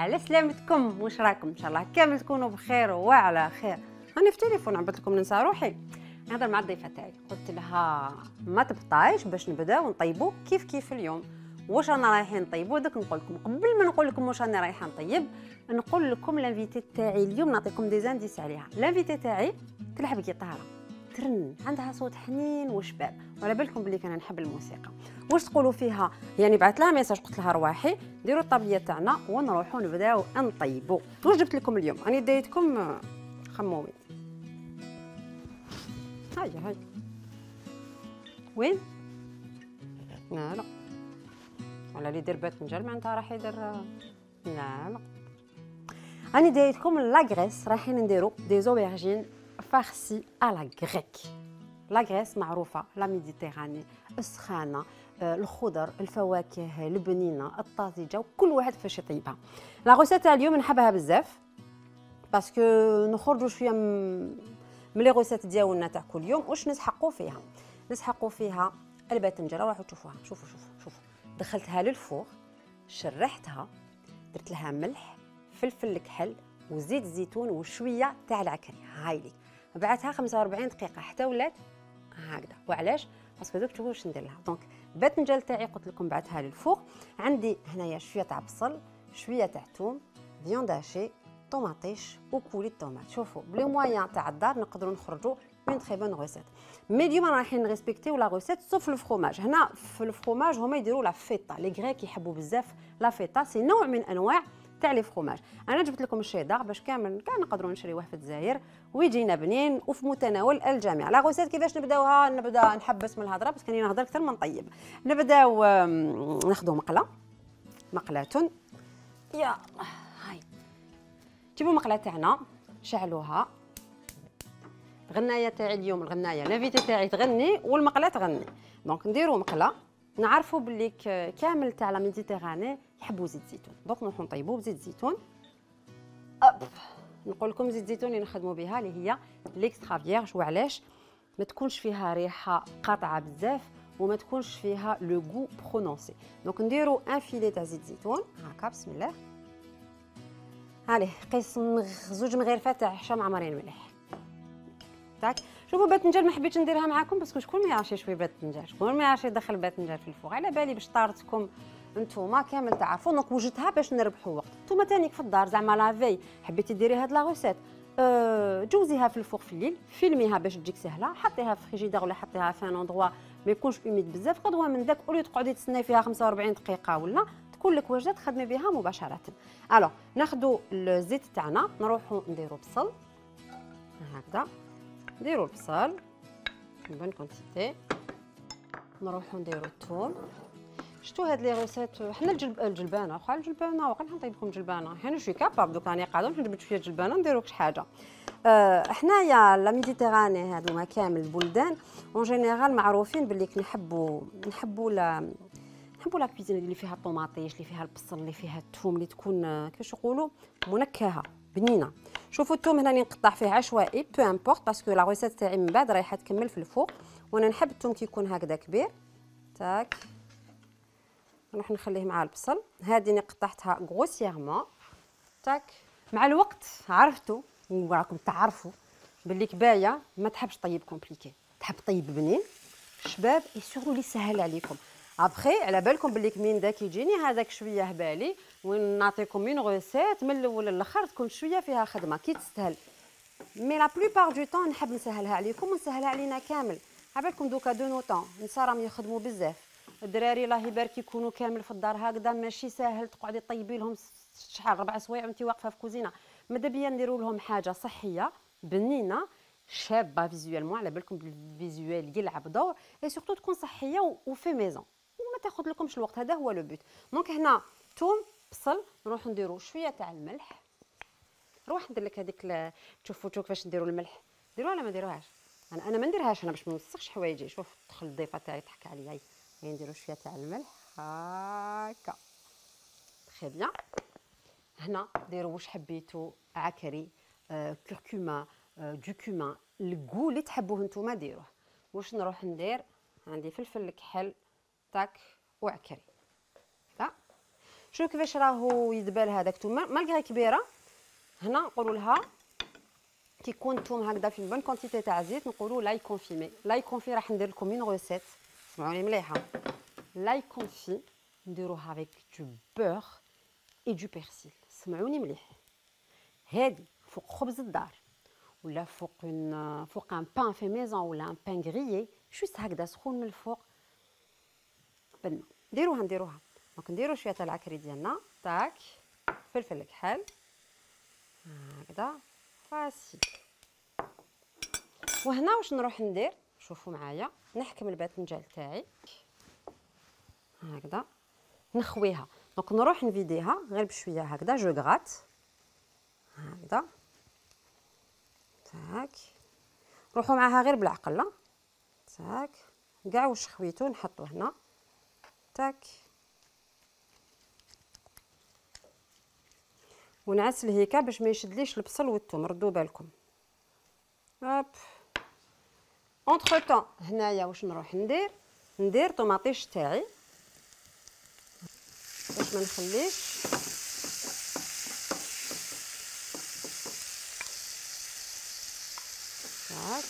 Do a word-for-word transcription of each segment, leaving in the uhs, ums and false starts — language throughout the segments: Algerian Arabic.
على سلامتكم، واش راكم؟ ان شاء الله كامل تكونوا بخير وعلى خير. راني في التليفون عبت لكم ننسى روحي نهضر مع الضيفه تاعي، قلت لها ما تبطايش باش نبداو نطيبوا كيف كيف اليوم. واش رانا رايحين نطيبوا؟ دوك نقول لكم قبل ما نقول لكم واش راني رايحه نطيب، نقول لكم لانفيتي تاعي اليوم، نعطيكم دي زانديس عليها. لانفيتي تاعي تلعب جيتاره، ترن، عندها صوت حنين وشباب، وعلى بالكم بلي كان نحب الموسيقى. واش تقولوا فيها؟ يعني بعثت لها ميساج قلت لها رواحي ديروا الطابليه تاعنا ونروحوا نبداو نطيبوا. واش جبت لكم اليوم؟ راني دايتكم خمومي. هيا هيا وين؟ لا لا ولا اللي يدير باذنجان معناتها راح يدير. لا لا راني دايتكم لاغريس، رايحين نديروا دي زوبرجين فارسي على غريك. لاغريس معروفه لا ميديتيراني السخانه، الخضر، الفواكه البنينه الطازجه، وكل واحد فاش يطيبها. لا غوسيت تاع اليوم نحبها بزاف باسكو نخرجوا شويه من لي غوسيت ديالنا تاع كل يوم. واش نسحقوا فيها؟ نسحقوا فيها الباذنجان. راحوا تشوفوها، شوفوا شوفوا شوفوا. دخلتها للفوغ، شرحتها، درت لها ملح، فلفل كحل وزيت زيتون وشويه تاع العكري. هايلي بعدها خمسة وأربعين دقيقه حتى ولات هكذا. وعلاش؟ باسكو دوك تشوفوا واش ندير لها. دونك الباذنجان تاعي قلت لكم بعثها للفوغ. عندي هنايا شويه تاع بصل، شويه تاع ثوم، فيوند هاشي، طوماطيش وكولي الطوماط. شوفوا بلي مويان تاع الدار نقدروا نخرجوا اون تري بون غوسيت. مي اليوم رايحين نريسبكتيو لا غوسيت سوف الفرomage. هنا في الفرomage هما يديروا لا فيتا، لي غريك يحبوا بزاف لا فيتا، سي نوع من انواع تاع لي فرomage. انا جبت لكم الشيدار باش كامل كاع نقدروا نشريوه في الجزائر ويجينا بنين وفي متناول الجميع. لا غوسيت كيفاش نبداوها؟ نبدا نحبس من الهضره باسكو راني نهضر اكثر من طيب. نبداو ناخذوا مقله، مقله. يا هاي جيبوا المقله تاعنا، شعلوها. الغنايه تاعي اليوم، الغنايه لافيتي تاعي تغني والمقله تغني. دونك نديروا مقله. نعرفوا بلي كامل تاع لا ميديتيراني يحبوا زيت زيتون، دونك نروحوا نطيبوا بزيت زيتون. أب. نقول لكم زيت زيتون اللي نخدموا بها اللي هي ليكسترا فيرج. وعلاش؟ ما تكونش فيها ريحه قاطعه بزاف وما تكونش فيها لو غو برونونسي. دونك نديروا ان فيلي تاع زيت زيتون هكا. بسم الله. هالي قيس زوج مغرفات تاع حشا معمرين مليح. تاك شوفوا باذنجان ما حبيتش نديرها معكم باسكو شكون ما يعرفش يشوي باذنجان، شكون ما يعرفش يدخل باذنجان في الفوغ. على بالي باش طارتكم نتوما كامل تعرفوا. دونك وجدتها باش نربحوا وقت. نتوما تانيك في الدار زعما لافي حبيتي ديري هاد لا غوسيت، أه جوزيها في الفوغ في الليل، فيلميها باش تجيك سهله، حطيها في فريجيدير ولا حطيها في ان اندروا ما يكونش اوميد بزاف. قدوه من داك اولي تقعدي تسناي فيها خمسة وأربعين دقيقه ولا تكون لك وجده تخدمي بها مباشره. الو ناخذوا الزيت تاعنا، نروحوا نديروا بصل هكذا، نديروا البصل بون كونتيتي، نروحوا نديروا الثوم. شتو هاد لي غوسيت حنا الجلب الجلبانه واخا الجلبانه واقع نطيب لكم جلبانه، حنا شوي كاباب دوك راني قاعده باش نجبد شويه جلبانه نديروا كش حاجه. أه حنايا لا ميديتيراني هادو كامل البلدان اون جينيرال معروفين باللي نحبوا نحبوا لا نحبوا لا كويزين اللي فيها الطوماطيش، اللي فيها البصل، اللي فيها الثوم، اللي تكون كيفاش يقولوا منكهه بنينه. شوفوا الثوم هنا نقطع فيه عشوائي بو امبورط باسكو لا غوسيت تاعي من بعد رايحه تكمل في الفوق، وانا نحب الثوم كي يكون هكذا كبير. تاك نروح نخليه مع البصل. هذه قطعتها غروسييرمون. تاك مع الوقت عرفتوا وراكم تعرفوا باللي كبايه ما تحبش طيب كومبليكي، تحب طيب بنين شباب اي سورتو اللي سهل عليكم. ابخي على بالكم باللي من داك يجيني هذاك شويه هبالي وين نعطيكم اون غوسيت من الاول للاخر تكون شويه فيها خدمه كي تستاهل. مي لا بلوبار دو طون نحب نسهلها عليكم ونسهلها علينا كامل. على بالكم دوكا دو نو طون نسا راهم يخدموا بزاف، الدراري الله يبارك يكونوا كامل في الدار هكذا ماشي ساهل تقعدي طيبي لهم شحال ربع سوايع وانت واقفه في كوزينه. ماذا بيا نديروا لهم حاجه صحيه بنينه شابه فيزوالمون، على بالكم الفيزوال يلعب دور اي سورتو تكون صحيه وفي ميزون وما تاخذ لكمش الوقت. هذا هو لو بوت. دونك هنا ثوم بصل نروح نديروا شويه تاع الملح. نروح ندير لك هذيك تشوفوا تشوف كيفاش نديروا الملح، ديروها ولا ما ديروهاش؟ انا انا ما نديرهاش انا باش ما نوسخش حوايجي. شوف دخل الضيفه تاعي تحكي عليا، هي نديروا شويه تاع الملح هكا تري بيان. هنا ديروا واش حبيتوا، عكري، آه، كركما، آه، دوكوما، الكو اللي تحبوه نتوما ديروه. واش نروح ندير؟ عندي فلفل كحل تاك وعكري. شوف كيفاش راهو يدبل هذاك الثوم مالغري كبيره. هنا نقولوا لها كي يكون الثوم هكذا في بون كونتيتي تاع زيت نقولوا لاي كونفيمي. لاي كونفي راح ندير لكم اون غوسيت سمعوني مليحه. لاي كونفي نديروها افيك دو بور اي دو بيرسيل. سمعوني مليح. هادي فوق خبز الدار ولا فوق اون فوق ان بان في ميزون ولا ان بان غريي جوست هكذا سخون من الفوق بنه. نديروها نديروها دونك نديرو شويه تاع العكري ديالنا تاك فلفل الكحل هكذا فاسيل. وهنا واش نروح ندير شوفوا معايا نحكم الباذنجان تاعي هكذا نخويها دونك نروح نفيديها غير بشويه هكذا جو غرات هكذا تاك. روحوا معاها غير بالعقل تاك كاع واش خويتو نحطو هنا تاك ونعسل هيكا باش ما يشدليش البصل والثوم. ردوا بالكم هوب. اونتر طون هنايا واش نروح ندير ندير طوماطيش تاعي باش ما نخليش هاك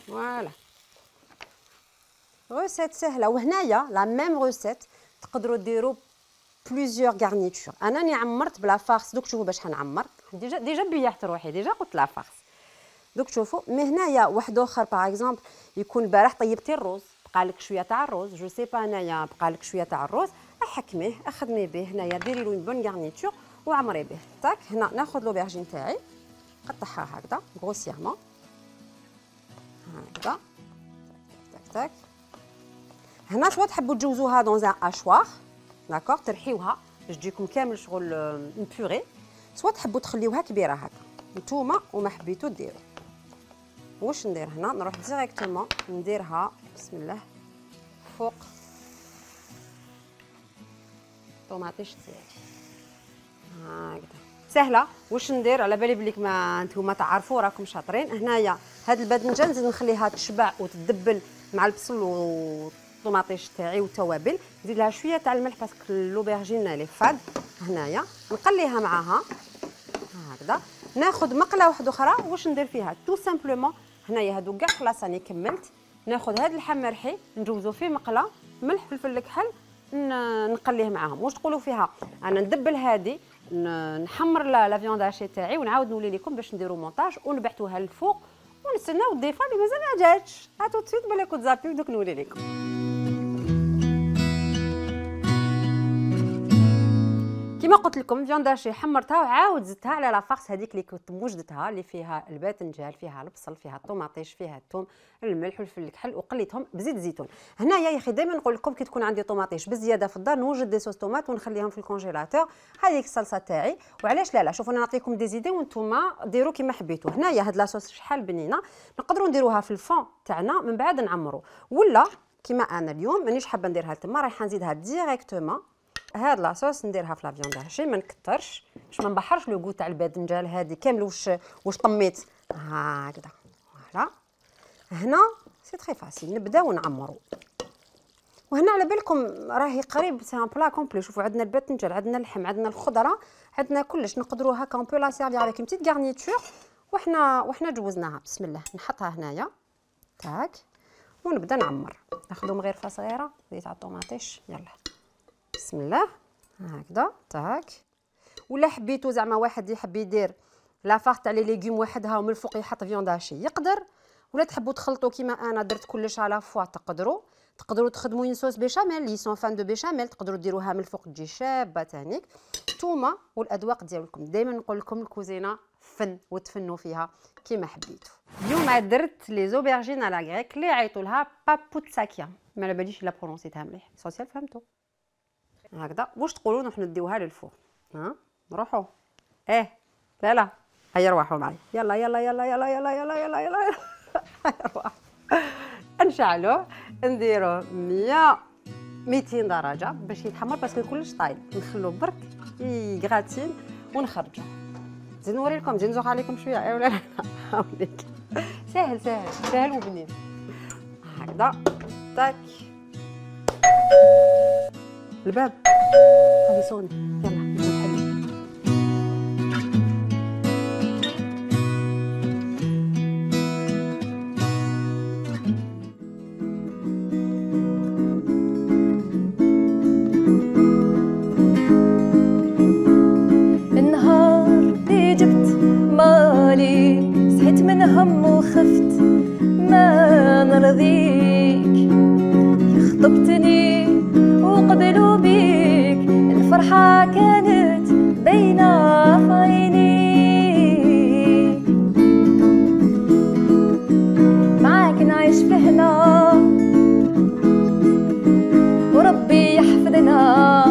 فوالا. روسيت سهله. وهنايا لا ميم روسيت تقدروا ديروا بليزيور غارنيتور. انا راني عمرت بلا فارس دوك شوفوا باش حنعمر ديجا ديجا بيحت روحي ديجا قلت لا فارس دوك شوفوا. مي هنايا واحد اخر باغ اكزومبل يكون البارح طيبتي الروز بقالك شويه تاع الروز جو سي با انايا بقالك شويه تاع الروز احكميه اخدمي به هنايا ديري له اون بون غارنيتور وعمري به تاك. هنا ناخذ لوبرجين تاعي قطعها هكذا غروسيرمون هكذا تاك تاك. هنا شوا تحبوا تجوزوها دون ان اشوار داكوغ ترحيوها باش تجيكم كامل شغل اون بوري سوا تحبوا تخليوها كبيره هكا نتوما وما حبيتو ديروا. واش ندير هنا نروح ديريكتومون نديرها بسم الله فوق طوماطيش تاعي هكذا سهله. واش ندير على بالي بليك ما نتوما تعرفوا راكم شاطرين. هنايا هاد الباذنجان نزيد نخليها تشبع وتدبل مع البصل والطوماطيش تاعي والتوابل. نزيد لها شويه تاع الملح باسكو لوبرجين لي فاد. هنايا نقليها معاها هكذا. ناخذ مقله واحده اخرى واش ندير فيها تو سامبلومون. هنايا هادو كاع خلاص راني كملت. ناخذ هاد اللحم مرحي نجوزو فيه مقله ملح فلفل الكحل نقليه معاهم. واش تقولوا فيها انا ندبل هادي نحمر لا فيوند هاشي تاعي ونعاود نولي لكم باش نديرو مونتاج ونبعثوها للفوق ونستناو الضيفه اللي مازال ما جاتش. هاتو تسويت بالك تزابيو دوك نولي لكم. كما قلت لكم فيوند هاشي حمرتها وعاود زدتها على لا فارس هذيك اللي كنت موجدتها اللي فيها الباذنجان فيها البصل فيها الطوماطيش فيها الثوم الملح والفلفل الكحل وقليتهم بزيت الزيتون. هنايا يا اخي دائما نقول لكم كي تكون عندي طوماطيش بزياده في الدار نوجد دي صوص طوماط ونخليهم في الكونجيلاتور. هذيك الصلصه تاعي وعلاش لا لا شوفوا انا نعطيكم دي زيدي وانتم ديروا كما حبيتوا. هنايا هاد لاصوص شحال بنينه نقدروا نديروها في الفون تاعنا من بعد نعمروا ولا كما انا اليوم مانيش حابه نديرها تما رايحه نزيدها ديريكتومون. هاد لاصوص نديرها في لا فيوند هاشي ما نكثرش باش ما نبحرش لو غو تاع الباذنجان هادي كامل واش واش طميت هكذا. فوالا هنا سي تري فاسيل نبداو نعمروا. وهنا على بالكم راهي قريب سي ان بلا كومبلي. شوفوا عندنا الباذنجان عندنا اللحم عندنا الخضره عندنا كلش نقدروا هكا اون بو لا سيرفير افيك اون بتيت غارنيتور وحنا وحنا جوزناها. بسم الله نحطها هنايا تاك ونبدا نعمر. ناخذ مغرفه صغيره زيت على الطوماطيش يلا بسم الله هكذا تاك. ولا حبيتو زعما واحد يحب يدير لافاغ تاع لي ليغوم وحدها ومن الفوق يحط فيوند هاشي يقدر. ولا تحبوا تخلطوا كيما انا درت كلش على فوا تقدروا. تقدروا تخدموا اون صوص بيشاميل لي سون فان دو بيشاميل تقدروا ديروها من الفوق تجي شابه تانيك. نتوما والاذواق ديالكم دائما نقول لكم الكوزينه فن وتفنوا فيها كيما حبيتوا. اليوم درت لي زوبرجين على غريك اللي عيطوا لها بابوتساكيا ما على باليش لا برونسيتها مليح سوسيال فهمتوا هكذا. واش تقولوا نروح نديوها للفوق ها نروحوا ايه لا لا هيا روحوا معي يلا يلا يلا يلا يلا يلا يلا يلا يلا نشعلوه نديروه مية ميتين درجه باش يتحمر باسكو كلش طايب. نخلوه برك يغاتين ونخرجوه نزيد نوري لكم، نزيد نزوق عليكم شويه. اي ولا لا؟ هاوليك ساهل ساهل ساهل وبنين هكذا. تاك الباب هذه صوني. يلا نحل. النهار اللي جبت مالي صحيت من هم وخفت ما نرضيك، خطبتني وقبلوا بيك الفرحة كانت باينة في عينيك، معاك نعيش في هنا وربي يحفظنا،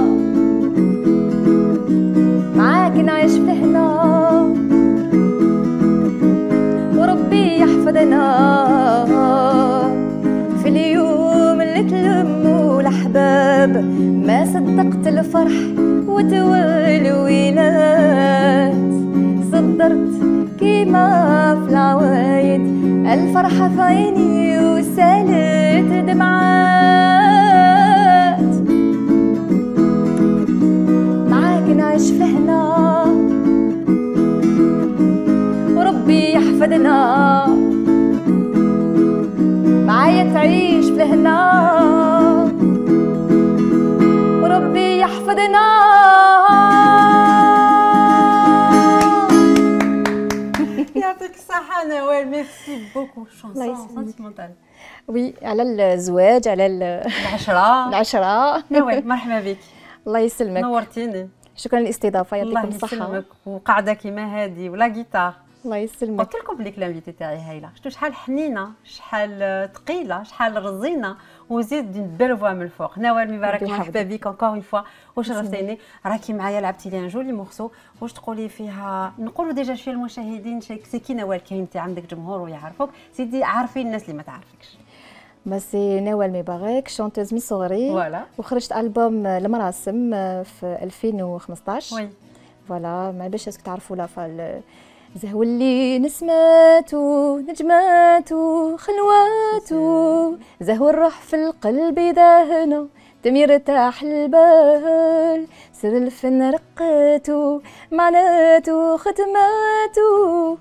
معاك نعيش في هنا وربي يحفظنا، في اليوم اللي تلموا الأحباب ما صدقت الفرح وتولوينات، صدرت كيما في العوايد الفرحة في عيني وسالت دمعات، معاك نعيش في هنا وربي يحفظنا، معايا تعيش في الهنا وربي يحفظنا. يعطيك الصحة نوال، ميرسي بوكو. شونسون سونتيمونتال. وي على الزواج، على العشرة العشرة. نوال مرحبا بك. الله يسلمك، نورتيني. شكرا للاستضافة، يعطيكم الله الصحة. يسلمك. وقاعدة كيما هادي ولا جيتار. الله يسلمك. قلت لكم بليك لانفيتي تاعي هايله، شفتوا شحال حنينه، شحال ثقيله، شحال رزينه، وزيد دون بيل فوا من الفوق. نوال مبارك، مرحبا بك انكور اون فوا وشرفتيني. راكي معايا لعبتي لي ان جولي مورسو، واش تقولي فيها؟ نقولوا ديجا شويه المشاهدين سي كي نوال، كاين انت عندك جمهور ويعرفوك، سيدي عارفين الناس اللي ما تعرفكش. سي نوال مبارك، شونتوز من صغري، فوالا. وخرجت البوم المراسم في ألفين وخمسطاش. وي فوالا، ما باش اسكو تعرفوا لا فال زهو اللي نسماتو نجماتو خلواتو، زهو الروح في القلب داهنا تمير تاح البال، سر الفن رقاتو معناتو ختماتو.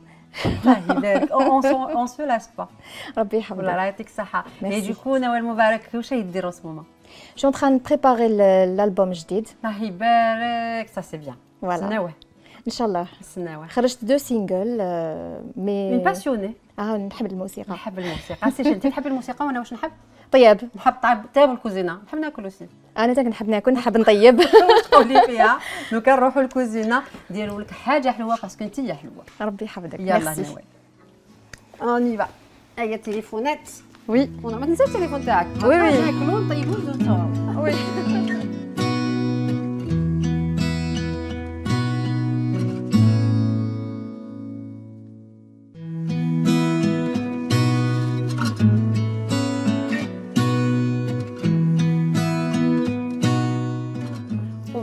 الله يبارك. اون سو لاس با. ربي يحفظك. والله يعطيك الصحة. مي دوكو نوال مبارك واش يديروا سموما؟ جو ان تران بريباري الالبوم جديد. الله يبارك. سا سي بيان. فوالا. نسناوه ان شاء الله. نسناوه. خرجت دو سينجل مي من باسيوني. اه نحب الموسيقى. نحب الموسيقى. سي انت تحب الموسيقى وانا واش نحب؟ طيب. نحب طيب طيب الكوزينه، نحب ناكل وسي. انا تا نحب ناكل، نحب نطيب. واش تقولي فيها؟ لو كان نروحوا الكوزينه نديروا لك حاجه حلوه باسكو انت حلوه. ربي يحفظك. يلا نوال. اوني با. هيا التليفونات. وي. ما تنساش التليفون تاعك. وي وي. ناكلوا نطيبوا ونزيدوا. وي.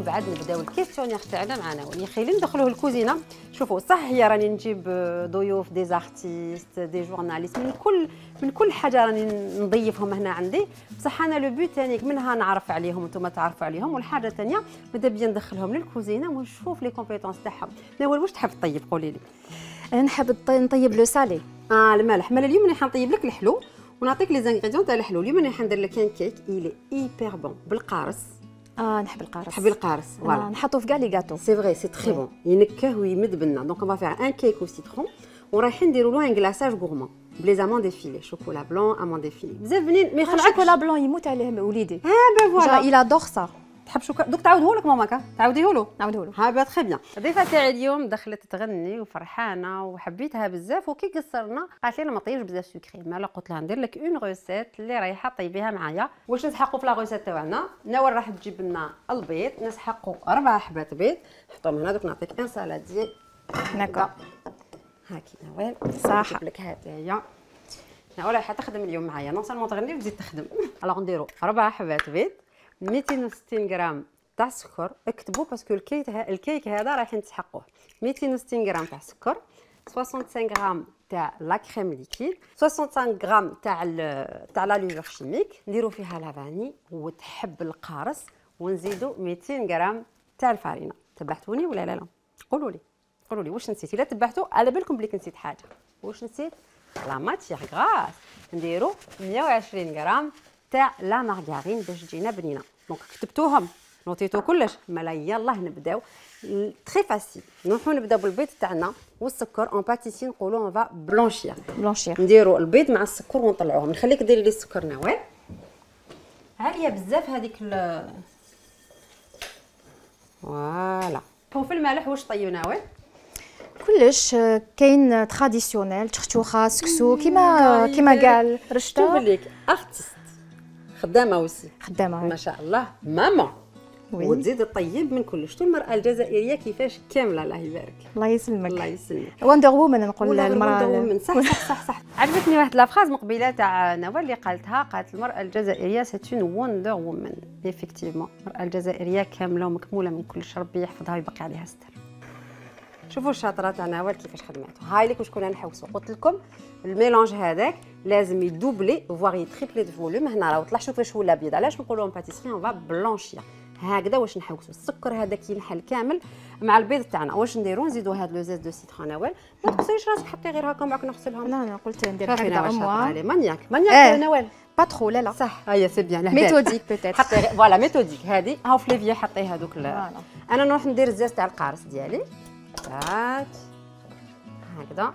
بعد نبداو الكيستيونير تاعنا معنا. يا خيلي ندخلوه الكوزينه. شوفوا صح هي راني نجيب ضيوف دي زارتيست دي جورناليست من كل من كل حاجه راني نضيفهم هنا عندي، بصح انا لو بوت ثاني منها نعرف عليهم وانتم تعرفوا عليهم، والحاجه الثانيه ماذا بيا ندخلهم للكوزينه ونشوف لي كومبيتونس تاعهم. نوال واش تحب تطيب؟ قولي لي. نحب نطيب لو سالي. اه المالح. مالا اليوم راح نطيب لك الحلو ونعطيك لي زانغريديون تاع الحلو. اليوم راح ندير لك كان كيك ايلي ايبر بون بالقارص. اه نحب القارص. تحبي القارص؟ فوالا. آه نحطو في كاع لي غاتو. سي فري سي تري بون، ينكه ويمد بنا. دونك اون فا فير ان كيك او سيترون ورايحين نديروا له ان غلاساج غورمون بلي زامون ديفيلي، شوكولا بلون امون ديفيلي بزاف بنين. ما يخلعكش الشوكولا بلون يموت عليه وليدي. اه بان فوالا الى ادور سا. تحب شوكولا؟ دوك تعاوديه لك ماماكا، تعاوديه له. نعاوديه له. ها با تري بيان. الضيفه تاعي اليوم دخلت تغني وفرحانه وحبيتها بزاف، وكي قصرنا قالت لي انا ما طيبش بزاف سكري. مالا قلت لها ندير لك اون روسيت اللي رايحه طيبيها معايا. واش نسحقوا في لا روسيت تاعنا؟ نوال راح تجيب لنا البيض، نسحقوا اربع حبات بيض نحطهم هنا. دوك نعطيك ان سالادي هكا هاكي نوال. صح. نجيب لك هذه هي. نوال رايحه تخدم اليوم معايا، نون سالمون تغني وتزيد تخدم. الوغ نديروا اربع حبات بيض، مئتين وستين غرام تاع السكر. اكتبوا باسكو الكيك الكيك هذا رايحين تسحقوه. مئتين وستين غرام تاع السكر، خمسة وستين غرام تاع لا كريم ليكيد، خمسة وستين غرام تاع تاع لا لوفر شيميك، نديروا فيها لافاني وتحب القارص، ونزيدوا مئتين غرام تاع الفارينه. تبعتوني ولا لا لا؟ قولوا لي قولوا لي واش نسيت. الا تبعتوا على بالكم بلي نسيت حاجه. واش نسيت؟ لا ماتيغ غراس. نديروا مئة وعشرين غرام تاع لا مارغارين باش تجينا بنينه. دونك كتبتوهم نوطيتو كلش. مالا يلاه نبداو تري فاسيل. نروحو نبداو بالبيض تاعنا والسكر. اون باتيسي نقولوا اون فا بلونشير. بلونشير. نديروا البيض مع السكر ونطلعوهم. نخليك ديري لي السكر نوال. عاليه بزاف هذيك ال فوالا. وفي المالح واش طيب نوال؟ كلش كاين تراديسيونيل، تختوخه، سكسو، كيما كيما قال رشتا. شوف ليك ارتست خدامه وسي خدامه ما شاء الله ماما. وي. وتزيد الطيب من كل. شتو المراه الجزائريه كيفاش كامله الله يبارك. الله يسلمك. الله يسلمك. وندر وومن نقول المراه المراه. صح صح صح صح. عجبتني واحد لافراز مقبله تاع نوال اللي قالتها. قالت المراه الجزائريه سيت اون وندر وومن. ايفيكتيفمون المراه الجزائريه كامله ومكموله من كل شيء. ربي يحفظها ويبقي عليها ستر. شوفوا الشاطره تاع نوال كيفاش خدمته. هاي لك واش كنا نحوسوا. قلت لكم الميلونج هذاك لازم يدوبلي فوار يتريبلي دو فوليوم. هنا راه طلع شوف واش ولا ابيض. علاش نقولوا اون باتيسري اون فا بلونشير. هكذا واش نحوسوا. السكر هذاك ينحل كامل مع البيض تاعنا. واش نديروا؟ نزيدوا هذا لو زيت دو سيترون نوال. ما تقصيش راسك حطي غير هكا معك نغسلهم. لا انا قلت ندير شوفي هكذا نوال شاطره اموا. علي. مانياك مانياك إيه. نوال. با ترو لا لا. صح هيا سي بيان. ميثوديك بوتيتر. حطي فوالا ميثوديك. هذه هاو في ليفيا حطي هذوك. فوالا. انا نروح ندير الزاز تاع القارص ديالي. تاك هكذا.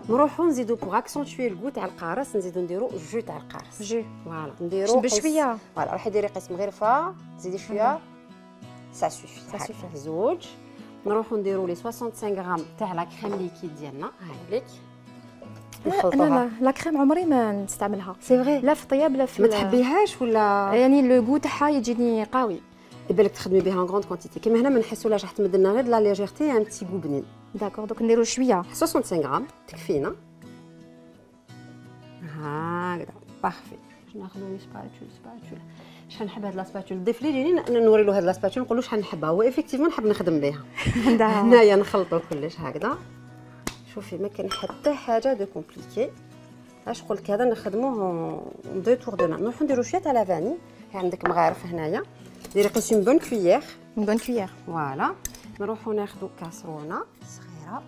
نروحو نزيدو بوغ اكسونتوي الكو تاع القارص. نزيدو نديرو جو تاع القارص. جو. فوالا نديرو بشويه. فوالا روحي ديري قسم غرفه. زيدي شويه سا سوفي. سا سوفي. زوج. نروحو نديرو لي خمسة وستين غرام تاع لا كريم ليكيد ديالنا. هاي ليك لا لا لا كريم عمري ما نستعملها. سي فغي. لا في الطياب لا في ما تحبيهاش ولا؟ يعني لو غو تاعها يجيني قوي. يبالك تخدمي بها ان غروند كونتيتي. كيما هنا ما نحسولاش راح تمد لنا غير لا ليجيرتي ان بتي غو بنين. داكور دوك نديرو شويه. خمسة وستين غرام تكفينا. هكذا بارفي. باش ناخذ لي سباتول سباتول. شحال نحب هاد لا سباتول. ضيف لي جيني نوري له هاد لا سباتول نقول له شحال نحبها. هو ايفيكتيفمون نحب نخدم بها. هنايا نخلطوا كلش هكذا. شوفي ما كاين حتى حاجه دو كومبليكي. اش قلت هذا نخدموه دو تور دو مان. نروحو نديرو شويه تاع لافاني. عندك مغارف هنايا. ديري قيس اون بون كويير. اون بون كويير. فوالا. نروحو ناخذو كاسرونه صغيره.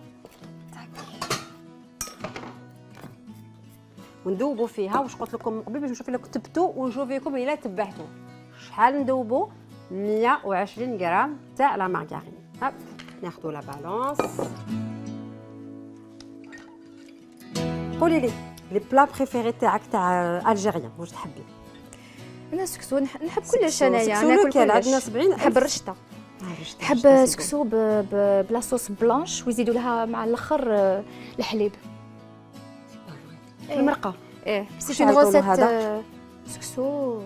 وندوبوا فيها. واش قلت لكم قبل باش نشوف الا كتبتوا ونشوفيكم الا تبعتوا. شحال ندوبوا؟ مئة وعشرين غرام تاع لا مارغارين. هاك ناخذوا لا بالونس. قولي لي لي بلا بريفيري تاعك تاع الجيريان واش تحبي؟ انا سكسو نحب كلش انايا. ناكل كلش. عندنا سبعين. نحب الرشته. نحب سكسو بلا صوص بلانش ويزيدوا لها مع الاخر الحليب. المرقه. ايه سي اون روسيت سكسو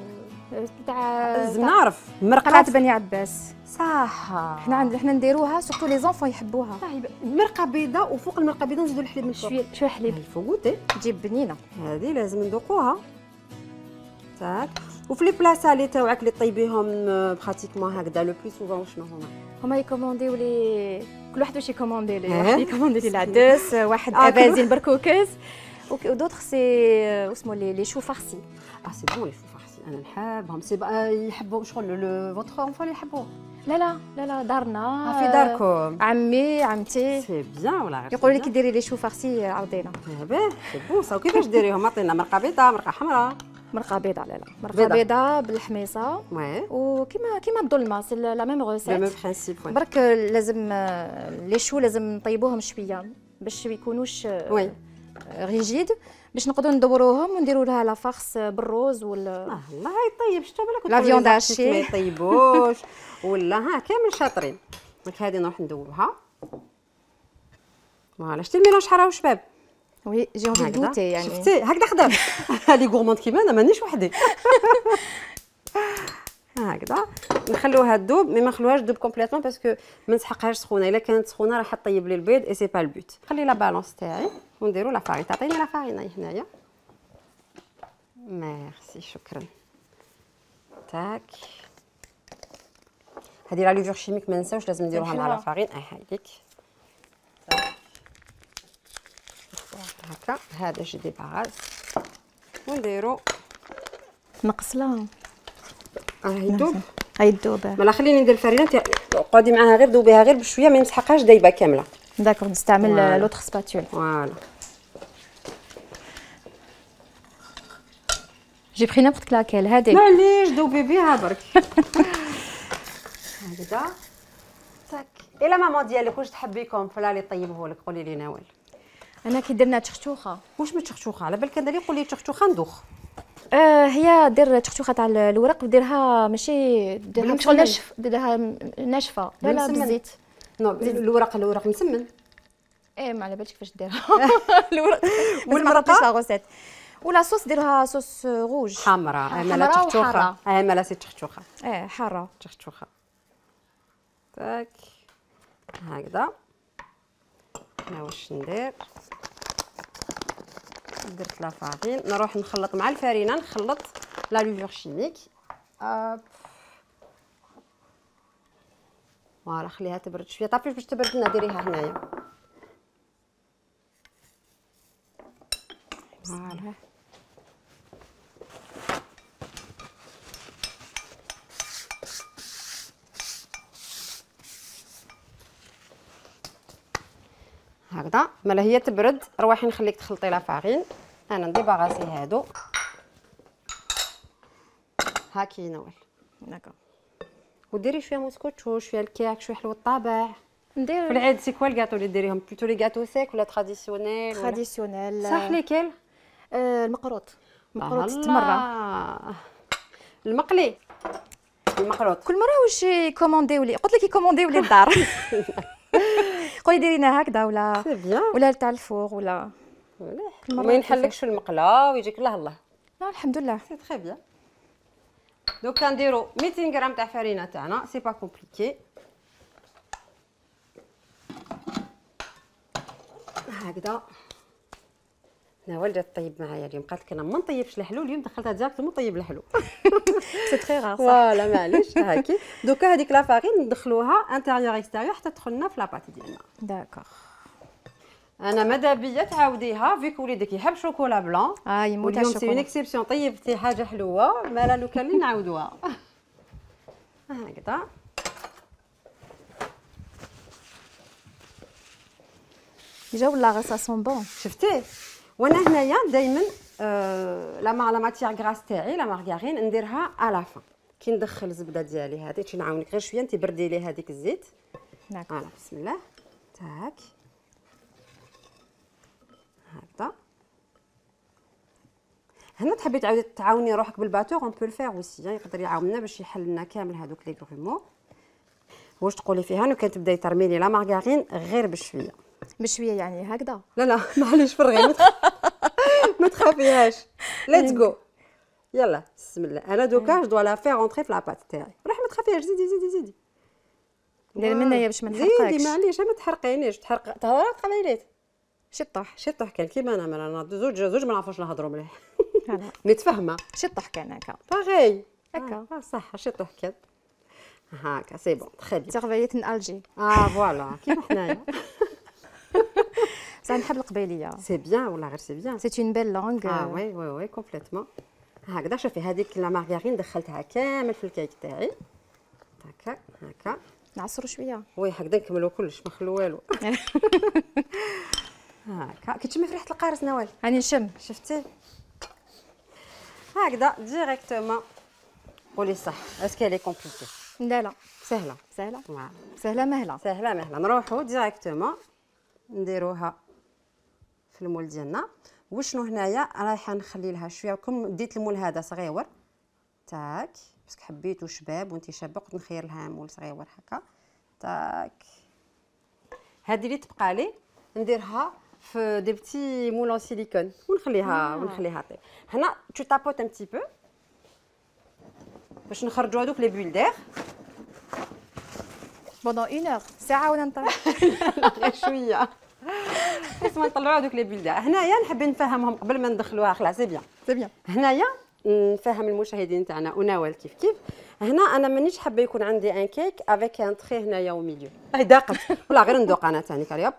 تاع لازم نعرف مرقه قلعه بني عباس. صح. حنا عند حنا نديروها سورتو لي زونفون يحبوها. مرقه بيضاء وفوق المرقه البيضاء نزيدوا الحليب من فوق. شويه شويه حليب. الفوقوتي تجيب بنينه. هذه لازم ندوقوها. تاك. وفي لي بلا سالي تاعك اللي طيبيهم براتيكمون هكذا لو بلو سوفون شنو هما؟ هما يكومونديو لي كل واحد واش يكوموندي لي. واحد يكوموندي لي العدس، واحد آه ابازين بركوكس، ودوطخ سي اسمو لي لي شو فارسي. اه سي بون لي شو فارسي انا نحبهم. سي بقى يحبوا شغل لو فوتر انفون يحبوا. لا لا لا لا دارنا. في داركم. عمي عمتي. سي بيان ولا يقولوا لي كي ديري لي شو فارسي عاودينا. باه سي بون سا. وكيفاش ديريهم؟ عطينا مرقه بيضاء مرقه حمراء. مرقه بيضاء. لا لا مرقه بيضاء بالحميصه. وي. وكيما كيما الظلمه سي لا ميم روسيت. لا ميم برينسيپ. برك لازم لي شو لازم نطيبوهم شويه باش ما يكونوش وي ريجيد باش نقدروا ندوروهم ونديروا لها لا فارس بالروز ولا اه الله يطيب. شتو بالك لا فيوند هاشي ما يطيبوش ولا ها كامل شاطرين. دونك هذه نروح ندوبها. فوالا شتي الميلونج حرا وشباب. وي جي اونفي دوتي يعني. شفتي هكذا خدام. هذه غورموند كيما انا مانيش وحدي. هكذا نخلوها تذوب مي ما نخلوهاش تذوب كومبليتوم باسكو ما نسحقهاش سخونه. الا كانت سخونه راح تطيب لي البيض اي سي با البوت. خلي لا بالونس تاعي ونديرو لا فارين. تعطيني لا فارين هنايا. ميرسي شكرا. تاك هذه لا ليفور شيميك ما نساوش لازم نديروها مع حلوة. لا فارين. اي هايديك هكا. هذا جو ديباراس ونديرو نقص لها راه يذوب. هاي الذوبه. مالا خليني ندير الفرينه قعدي معاها غير ذوبيها غير بشويه ما يمسحقهاش دايبه كامله. داكور نستعمل فوالا. لوتر سباتول. فوالا جي بري نيمبورت لاكيل هذه. معليش ذوبي بها برك. هكذا تاك. الا ماما ديالك واش تحبيكم فلا اللي طيبه لك قولي لي نوال. انا كي درنا تشختوخه. واش من تشختوخه على بالك انا اللي قولي تشختوخه ندوخ. آه هي دير تشختوخه تاع الورق وديرها ماشي ديرها بالمسمن. شغل ناشف ديرها ناشفه لا لا بالمسمن. بالزيت. نو الورق الورق مسمن. ايه ما على بالك كيفاش ديرها. الورق والمرقة؟ والمرقه غوسيت ولا صوص ديرها صوص روج حمراء مالا حمراء تشختوخه. وحارة. اه مالا سي تشختوخه. ايه حاره. تشختوخه تاك هكذا. انا واش ندير درت لا فارين نروح نخلط مع الفرينه نخلط لا ليفور شيميك. هوب فوالا خليها تبرد شويه. طافي باش تبرد لنا ديريها هنايا. فوالا هكذا. مالا هي تبرد روحي نخليك تخلطي لا فارين. انا نديباغاسي هادو هاكي نوال. داكور وديري شويه موسكوتشو شويه الكيك شويه حلوه الطابع. في ندير العيد سي كوا الكاطو اللي ديريهم بلوتو لي كاطو سيك ولا تراديسيونيل ولا تراديسيونيل. صح ليكل. آه المقروط مقروط ست الله. مره. المقلي المقروط كل مره واش يكومونديو لي قلت لك يكومونديو لي الدار. قولي ديري لنا هكذا ولا سي بيان ولا تاع الفور ولا كل مرة ما ينحلكش في المقله ويجيك الله الله. لا الحمد لله. سي تري بيان. دوكا نديرو مئتين غرام تاع فرينه تاعنا سي با كومبليكي. هكذا نوال جات طيب معايا اليوم قالت لك انا ما نطيبش الحلو اليوم دخلتها ديريكتومون طيب الحلو. سي تري رار صح. فوالا معليش هاكي. دوكا هذيك لا فارين ندخلوها انتيريور اكستيريور حتى تدخل لنا في لاباط ديالنا. داكور. انا ماذا بيا تعاوديها فيك وليدك يحب شوكولا بلون. اه يموت واليوم سي اون الشوكولا. اكسيبسيون طيبتي حاجه حلوه مالا لو كان نعاودوها. هكذا ديجا ولا غير سا سون بون. شفتي. وانا هنايا دائما آه لا لا ماتيير غراس تاعي لا مارغارين نديرها على فان كي ندخل الزبده ديالي هذه تي نعاونك غير شويه انت بردي لي هذيك الزيت. داكور. فوالا بسم الله تاك هكذا. هنا تحبي تعاودي تعاوني روحك بالباتور اون بو الفير اوسي يقدر يعاوننا باش يحل لنا كامل هذوك لي غرومو. واش تقولي فيها انو كان تبداي ترمي لي لا مارغارين غير بشويه بشويه يعني هكذا. لا لا معليش فرغي ما تخافيهاش. ليتس جو يلا بسم الله. انا دوكا جو دو لا فير اونطري في لاباط تاعي. روحي ما تخافيهاش زيدي زيدي زيدي دير منايا باش ما نحرقكش. زيدي معليش ما تحرقينيش تحرق تهضري تقبيليت شي طاح شي طح كان كيما انا انا زوج زوج ما نعرفوش نهضروا مليح. هلا متفاهمه شي طاح كان هكا باغي هكا. اه صح شي طح كان هاكا سي بون تري بيان. تغفيت من الجي. اه فوالا كيما حنايا. بصح نحب القبيليه. سي بيان والله غير سي بيان. سي اون بيل لونغ. اه وي وي وي كومبليتمون. هكذا شوفي هذيك لا مارغارين دخلتها كامل في الكيك تاعي هكا هكا. نعصروا شويه. وي هكذا نكملوا كلش ما نخلو والو. هكا كتشمي في ريحه القارص نوال. هاني نشم. شفتي هكذا ديريكتومون. قولي صح اسكو لي كومبليكي. لا لا سهله سهله فوالا سهله مهله. سهله مهله. نروحوا ديريكتومون نديروها في المول ديالنا. وشنو هنايا رايحه نخلي لها شويه كم ديت المول هذا صغيور تاك باسكو حبيتو شباب وانت شابه قلت نخير لها مول صغيور هكا تاك. هذه اللي تبقى لي نديرها في دي بتي مولون سيليكون ونخليها آه. ونخليها طيب. هنا تو تابوت ان بتي بو باش نخرجوا هذوك لي بول دير. بوندون اون اور ساعه ولا نطيح. غير شويه بس ما نطلعوا هذوك لي بول دير. هنايا نحب نفهمهم قبل ما ندخلوها خلاص سي بيان. سي بيان. هنايا نفهم المشاهدين تاعنا ونوال كيف كيف هنا انا مانيش حابه يكون عندي ان كيك افيك ان تري هنايا او ميليو. اه داقت ولا غير ندوق انا ثاني كريب.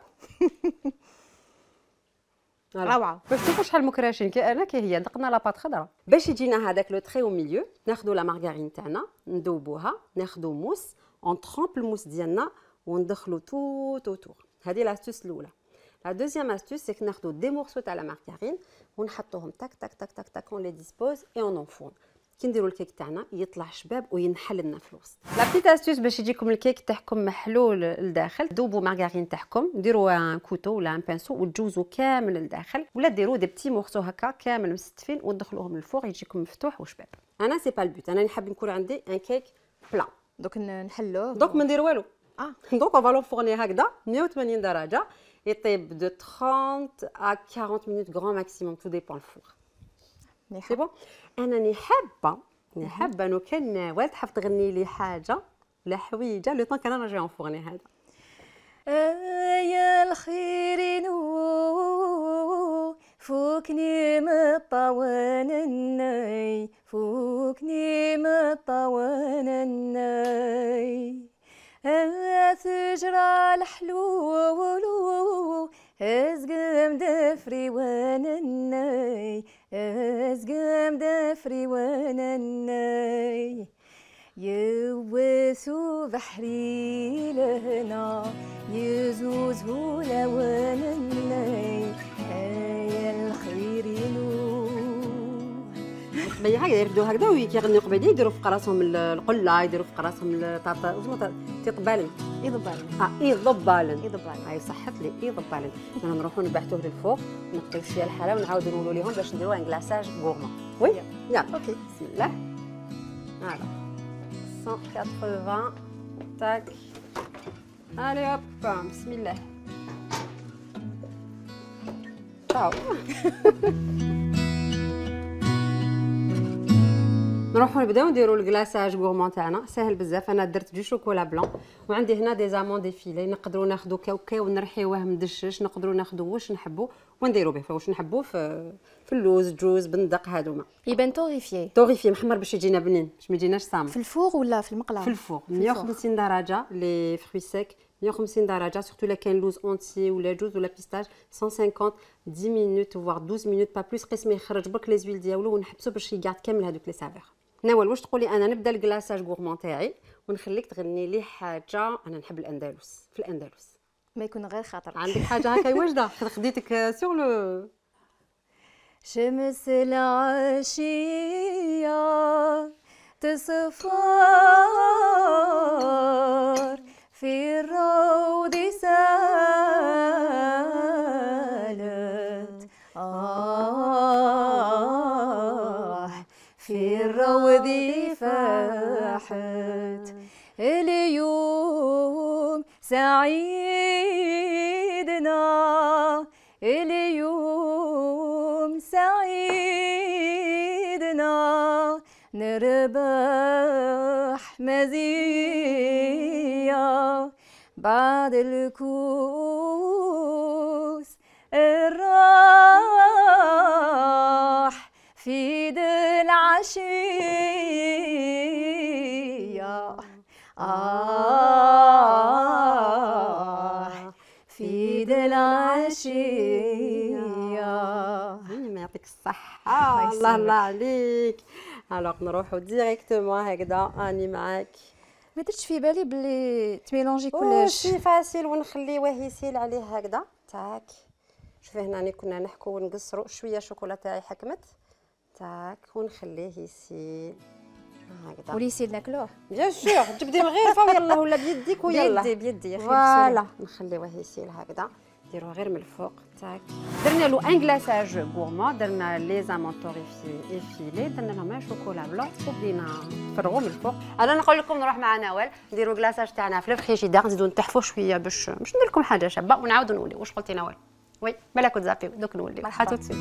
روعه. باش تشوفوا شحال مكراشين كي انا كي هي دقنا لاباط خضراء. باش يجينا هذاك لو تري او ميليو ناخذوا لا مارغارين تاعنا ندوبوها، ناخذوا موس اون ترامب الموس ديالنا وندخلوا توت اوتور. هذه لاستوس الاولى. لا دوزيام استوس سي ناخذوا دي مورسو تاع لا مارغارين ونحطوهم تاك تاك تاك تاك تاك اون لي ديسبوز اي اون اونفون. كي نديروا الكيك تاعنا يطلع شباب وينحل لنا في الوسط. لا بيت استوس باش يجيكم الكيك تاعكم محلول لداخل، دوبوا مارغارين تاعكم، ديروا ان كوتو ولا ان بانسو وتجوزوا كامل لداخل، ولا ديروا دي بتي مورسو هكا كامل مستفين وتدخلوهم للفوق يجيكم مفتوح وشباب. انا سي با البوت، انا نحب نكون عندي ان كيك بلا. دوك نحلوه دوك ما ندير والو. اه دونك اون فالو فورني هكذا مية وثمانين درجه يطيب دو ثلاثين à quarante minutes grand maximum tout dépend الفور. سي بون. انا حابه حابه انه كان ناول تحب تغني لي حاجه ولا حويجه لو طون كان انا جاي نفورني هذا. يا الخير نو فوكني مطوانني فوكني مطوانني ثجرى الحلول ازقم دفري وانني ازقم دفري وانني يوسو بحري لهنا يزوز هولا وانني يا الخير نور. بي هكذا يردوا هكذا ويغنيو قبيله يديروا في راسهم القله يديروا في راسهم الطاطا وزمط تيطبالن يضبالن اه يضبالن يضبالن هاي صحت لي يضبالن. انا نروحوا نبعثوه للفوق نقيو شويه الحلا ونعاودوا نقولوا لهم باش نديروا ان كلاصاج غورمون. وي يلا اوكي بسم الله. فوالا مية وثمانين تاك الي هوب بسم الله تاو. نروحوا نبداو نديروا الكلاصاج غورمون تاعنا ساهل بزاف. انا درت دو شوكولا بلون وعندي هنا دي زامون ديفيلي نقدروا ناخذوا كاوكاو ونرحيوه مدشش نقدروا ناخذوا واش نحبوا ونديروا به واش نحبوا في في اللوز جوز بندق هذوما يبان طوريفي طوريفي محمر باش يجينا بنين باش ما يجيناش صامت. في الفوغ ولا في المقله؟ في الفوغ مية وخمسين درجه لي فروي سيك مية وخمسين درجه سورتو لا كاين لوز اونتي ولا جوز ولا بيستاج مية وخمسين عشرة مينوت فوار اثنا عشر مينوت با بلوس قسم يخرج برك لي زويل ديالو ونحبسو باش يقعد كامل هذوك لي سافير. نوال واش تقولي انا نبدا الكلاصاج غورمون تاعي ونخليك تغني لي حاجه. انا نحب الاندلس في الاندلس ما يكون غير خاطر عندك حاجه هكا واجده خديتك سور لو شمس العشيه تصفر في الروض سالت آه في الروض فاحت اليوم سعيدنا اليوم سعيدنا نربح مزية بعد الكوس الراح في دي العشية آه في دي العشية. ما يعطيك الصحة الله الله عليك. الوغ نروحو ديريكتومون هكذا اني معاك. ما درتش في بالي بلي تميلونجي كلش كلش سي فاسيل ونخليوه يسيل عليه هكذا تاك. شوفي هنا كنا نحكو ونقصرو شويه شوكولا تاعي حكمت تاك ونخليه يسيل هكذا وليسيل ناكلوه بيان سور تبدي الغرفه ويلا ولا بيديك ويلا بيدي بيدي يا اخي فوالا نخليوه يسيل هكذا نديروه غير من الفوق تاك. درنا له ان كلاصاج غورمون درنا لي زامون طوريفي ايفيلي درنا لهم شوكولا بلون وبدينا نفرغوا من الفوق. انا نقول لكم نروح مع نوال نديروا كلاصاج تاعنا في الفريجيدير نزيدوا نتحفوا شويه باش باش ندير لكم حاجه شابه ونعاودوا نوليو. واش قلتي نوال؟ وي مالا كنت زابيو دوك نوليو حتى تسيت.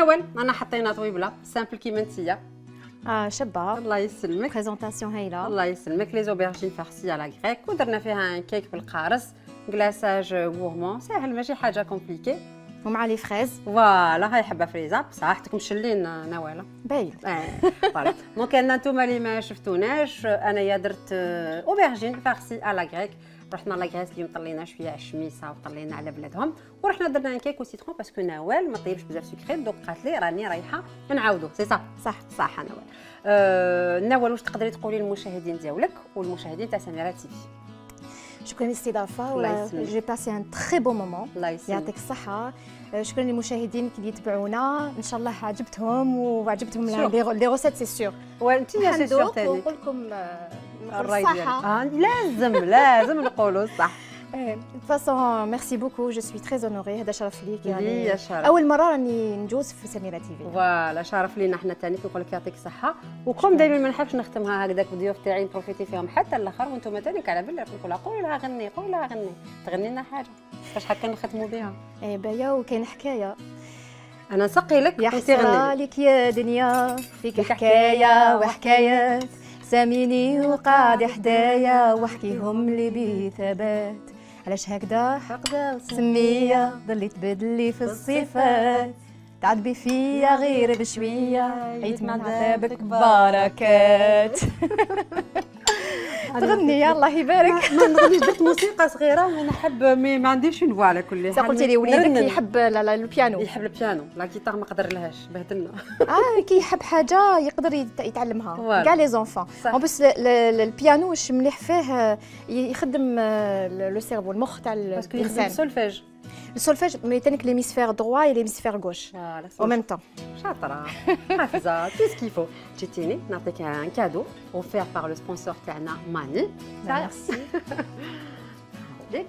نوال انا حطينا طويبله سامبل كيما نتيا. اه شابه. الله يسلمك. بريزونطاسيون هايله. الله يسلمك. لي زوبرجين فارسي على غريك ودرنا فيها ان كيك بالقارص كلاصاج غورمون ساهل ماشي حاجه كومبليكي. ومع لي فريز. فوالا هاي حبه فريزه بصحتك مشلين نواله. باين. اه فوالا دونك انا نتوما اللي ما شفتوناش انايا درت اوبرجين فارسي على غريك. رحنا لاكريس اليوم طلينا شويه على الشميسه وطلينا على بلادهم ورحنا درنا ان كيك وسيترون باسكو نوال ما طيبش بزاف سكري دونك قالت لي راني رايحه نعاودو سي صح صح صح نوال. أه نوال واش تقدري تقولي للمشاهدين ديالك والمشاهدين تاع سميرة تي في؟ شكرا للاستضافه. الله يسلمك. جي باسي ان تري بون مومون. الله يسلمك. يعطيك الصحه. شكرا للمشاهدين اللي يتبعونا ان شاء الله عجبتهم وعجبتهم لي روسيت سي سور. وانت يا سي سور ثاني ونقول لكم الراي ديالك. اه لازم لازم نقولوا الصح. De toute façon, merci beaucoup, je suis très honorée. هذا شرف ليك يعني اول مره راني نجوز في سميرة تي في. فوالا شرف لينا حنا ثاني كنقول لك يعطيك الصحه وكم دايما ما نحبش نختمها هكذاك الضيوف تاعي نبروفيتي فيهم حتى الاخر وانتم ثاني على بالي نقول لها قولي لها غني قولي لها غني تغني لنا حاجه باش هكا نختموا بها. اي بايا وكاين حكايه انا نسقي لك يا حسرة لك يا دنيا فيك حكايه وحكايات ساميني وقاعد حدايا واحكيهم لي بثبات علاش هكذا هكذا سميه ضلي تبدلي في الصفات تعذبي فيا غير بشويه عيت مع عذابك بركات. تغني الله يبارك. ما نغنيش درت موسيقى صغيره وانا نحب مي ما عنديش اون فوا على كل حال. قلتي لي وليدك يحب البيانو. يحب البيانو لا جيتار ما قدر لهاش بهدلنا. اه كي يحب حاجه يقدر يتعلمها كاع لي زونفون. اون بليس البيانو واش مليح فيه يخدم لو سيرفو المخ تاع الانسان. باسكو السولفيج السولفيج ميتانيك ليميسفير دروا اي ليميسفير غوش او ميم طون. شاطره حافظه تو سكيفو. جيتيني نعطيك ان كادو اوفير بار لو سبونسور تاعنا ماني. ميرسي ليك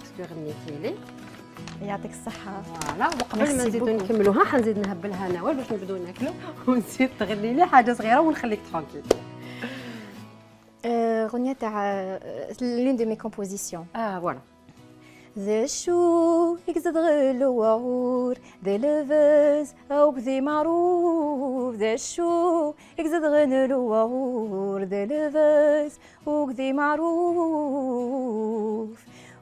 باسكو غنيتي لي يعطيك الصحه. فوالا وقبل ما نزيدو نكملوها حنزيد نهبلها نوال باش نبداو ناكلو ونزيد تغني لي حاجه صغيره ونخليك ترانكيل. غنية تاع لون دو مي كومبوزيسيون. اه فوالا. ذا شو يقصد غلو وعور ذا لفز أو بذي معروف ذا شو يقصد غلو وعور ذا لفز أو بذي معروف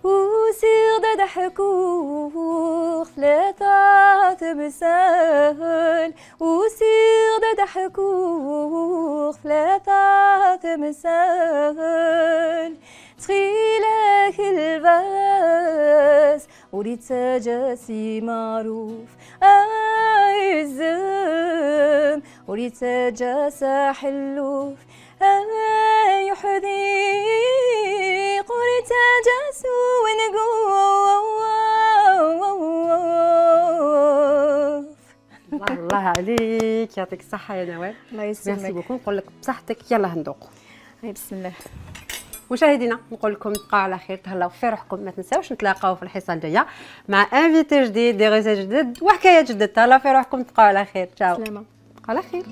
وسير دا ضحكوه ثلاثة تمثال وسير دا ضحكوه ثلاثة تمثال تخيلك الباس وريد سجاسي معروف أعزم وريد سجاسة حلوف أي حديق وريد سجاسو ونقوف. الله عليك يعطيك الصحة يا نوال. الله يسلمك. ميرسي بوكو. نقول لك بصحتك يلا هندوقو. بسم الله. مشاهدينا نقول لكم تبقاو على خير تهلاو في روحكم ما تنساوش نتلاقاو في الحصه الجايه مع انفيتي جديد دي ريسيرش جدد وحكايات جدد. تهلاو في روحكم تبقاو على خير. تشاو. سلامه. على خير.